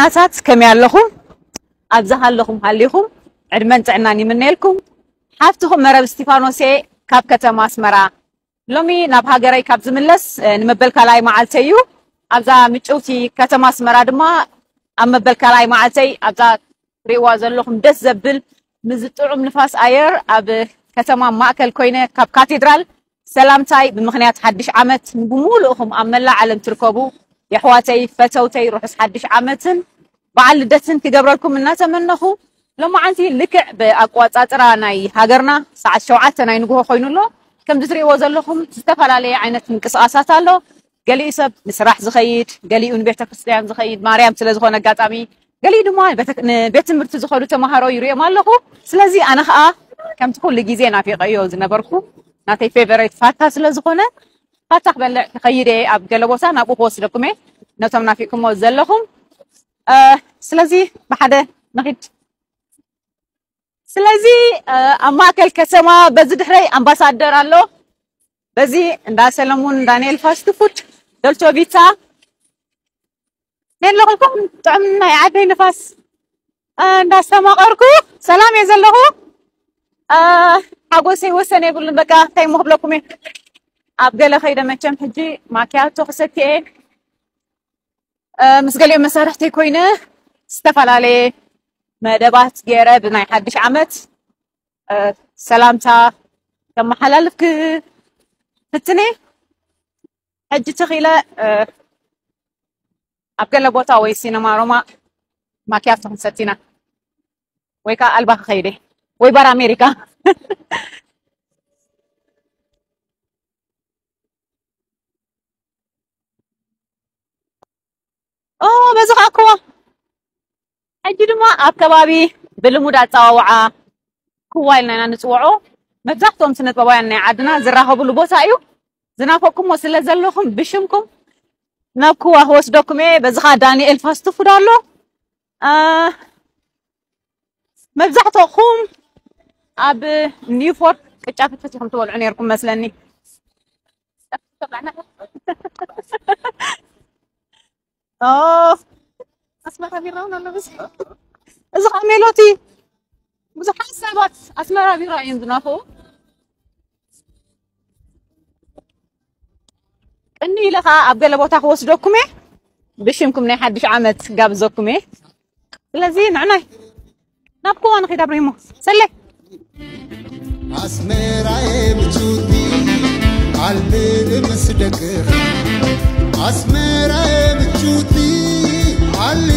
ናታት ከመይ ኣለኹም? ኣብዛ ሃለኹም ሃሊኹም ዕድመን ጥዕናን ይምነየልኩም። ሓፍትኹም መረብ እስቲፋኖስ እየ ካብ ከተማ ኣስመራ። ሎሚ ናብ ሃገረይ ካብ ዝምለስ፣ እ፣ ንመበል ካልኣይ መዓልተይ እዩ። ኣብዛ ምጭውቲ ከተማ ኣስመራ ድማ ኣብ መበል ካልኣይ መዓልተይ ኣብዛ ትሪእዋ ዘለኹም ደስ ዘብል፣ ምስ ጥዑም ንፋስ ኣየር ኣብ ከተማ ማእከል ኮይነ ካብ ካቴድራል ሰላምታይ ብምኽንያት ሓድሽ ዓመት ንብሙሉእኹም ኣብ መላእ ዓለም ትርከቡ የሕዋተይ ፈተውተይ ርሑስ ሓድሽ ዓመትን በዓል ልደትን ክገብረልኩም እናተመነኹ፣ ሎማዓንቲ ልክዕ ብኣቋጻጽራ ናይ ሃገርና ሰዓት ሸውዓተ ናይ ንግሆ ኮይኑ ኣሎ። ከምዚ ትሪእዎ ዘለኹም ዝተፈላለየ ዓይነት ምንቅስቓሳት ኣሎ። ገሊኡ ሰብ ንስራሕ ዝኸይድ፣ ገሊኡ ንቤተ ክርስቲያን ዝኸይድ፣ ማርያም ስለ ዝኾነ ኣጋጣሚ፣ ገሊኡ ድማ ቤተ-፣ ንቤት ትምህርቲ ዝኸዱ ተምሃሮ ይሪኦም ኣለኹ። ስለዚ ኣነ ኸኣ ከምቲ ኩሉ ግዜ ናፊቐዮ ዝነበርኩ ናተይ ፌቨሬት ፋታ ስለ ዝኾነ ፋታ ክበልዕ ክኸይድ እየ። ኣብ ገለ ቦታ ናብኡ ክወስደኩም እየ ነቶም ናፊቕኩሞ ዘለኹም። እ፣ ስለዚ ብሓደ ንኺድ። ስለዚ፣ እ፣ ኣብ ማእከል ከተማ በዚ ድሕረይ ኣምባሳደር ኣሎ። በዚ እንዳ ሰለሙን ዳንኤል ፋስት ፉድ፣ ዶልቸ ቪታ፣ ነለኹልኩም ጥዑም ናይ ዓደይ ንፋስ፣ እ፣ እንዳስተማቐርኩ ሰላም እየ ዘለኹ። እ፣ ሓጎሰይ ወሰን የብሉን። በቃ እንታይ እሞ ክብለኩም እየ። ኣብ ገለ ከይደ መቸም ሕጂ ማኪያቶ ክሰቲ እየ። እ፣ ምስ ገሊኦም መሳርሕተይ ኮይነ ዝተፈላለየ መደባት ገይረ ብናይ ሓድሽ ዓመት፣ እ፣ ሰላምታ ከመሓላልፍ ክፍትን እየ። ሕጂ ተኺለ፣ እ፣ ኣብ ገለ ቦታ ወይ ሲነማ ሮማ ማኪያቶ ክንሰቲ ኢና። ወይ ከኣ ኣልባ ክኸይድ እየ። ወይ ባር ኣሜሪካ። ኦ፣ በዚ ከኣ ክዋ። ሕጂ ድማ ኣብ ከባቢ ብልሙድ ኣጸዋውዓ ክዋ ኢልና ኢና ንጽውዖ። መብዛሕትኦም ስነ ጥበባውያን ናይ ዓድና ዝራኸብሉ ቦታ እዩ። ዝናፈቅኩሞ ስለ ዘለኹም ብሽምኩም ናብ ክዋ ክወስደኩም እየ። በዚ ከኣ ዳንኤል ፋስት ፉድ ኣሎ። አ፣ መብዛሕትኹም ኣብ ኒውፎርት ቅጫ ፍትፍት ኢኹም ትበልዑ ነይርኩም መስለኒ። ኦ፣ ኣስመራ ቢራ እውን ኣሎ። በዚ፣ እዚ ኸዓ ሜሎቲ። ብዙሓት ሰባት ኣስመራ ቢራ እዮም ዝናፍቑ። ቅኒ ኢለ ኸዓ ኣብ ገለ ቦታ ክወስደኩም እየ። ብሽምኩም ናይ ሓድሽ ዓመት ጋብዘኩም እየ። ስለዚ ንዕናይ ናብ ክዋ ንኺድ ኣብሪሞ። ሰሌ። ኣስመራየ ምቹቲ፣ ዓሊ ምስ ደቅኻ። ኣስመራየ ምቹቲ፣ ዓሊ